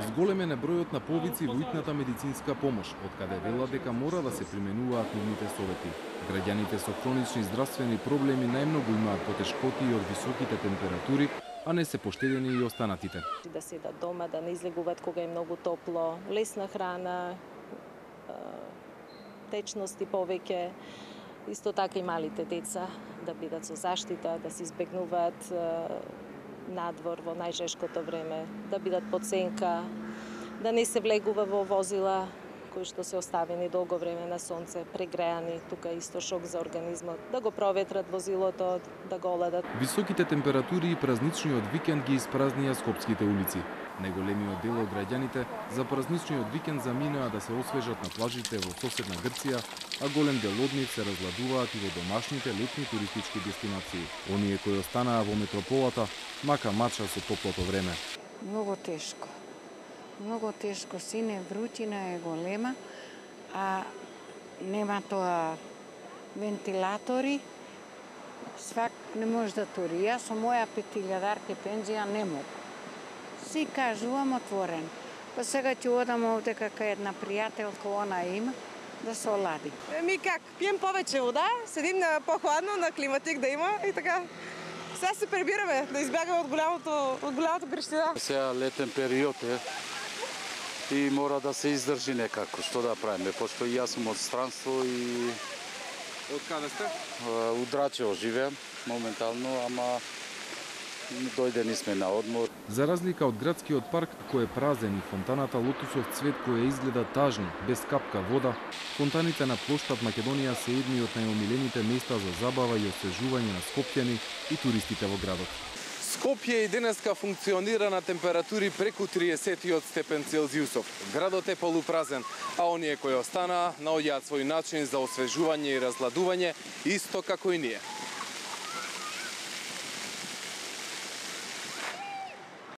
Зголемен е бројот на повици во итната медицинска помош, од каде велат дека мора да се применуваат нивните совети. Граѓаните со хронични здравствени проблеми најмногу имаат потешкоти од високите температури, а не се поштедени и останатите. Да седат дома, да не излегуваат кога е многу топло, лесна храна, течности повеќе, исто така и малите деца да бидат со заштита, да се избегнуваат надвор во најжешкото време, да бидат под сенка, да не се влегува во возила кои што се оставени долго време на сонце, прегреани, тука исто шок за организмот, да го проветрат возилото, да го оладат. Високите температури и празничниот викенд ги испразнија скопските улици. Најголемиот дел од граѓаните за празничниот викенд заминаа да се освежат на плажите во соседна Грција, а голем дел од нив се разгладуваат и во домашните летни туристички дестинации. Оние кои останаа во метрополата, мака мача со топлото време. Многу тешко. Многу тешко, сине врутина е голема, а нема тоа вентилатори, свак не може да тури. Јас со моја 5000 пензија не мог. Си кажувам отворен. Па сега ќе одам овде како една пријателка, она има, да се олади. Ми как, пием повеќе вода, седим на похладно, на климатик да има и така. Сега се пребираме да избегаме од голямата грештина. Сега летен период е и мора да се издржи некако. Што да правиме, пошто и јас сум од странство и... Од каде сте? У Драчево живеам моментално, ама дојдени сме на одмор. За разлика од градскиот парк, кој е празен, и фонтаната Лотусов цвет која изгледа тажно, без капка вода, фонтаните на плоштад Македонија се едни од најомилените места за забава и освежување на скопјани и туристите во градот. Скопје и денеска функционира на температури преку 30 степен Целзиусов. Градот е полупразен, а оние кои останаа наоѓаат свој начин за освежување и разладување, исто како и ние.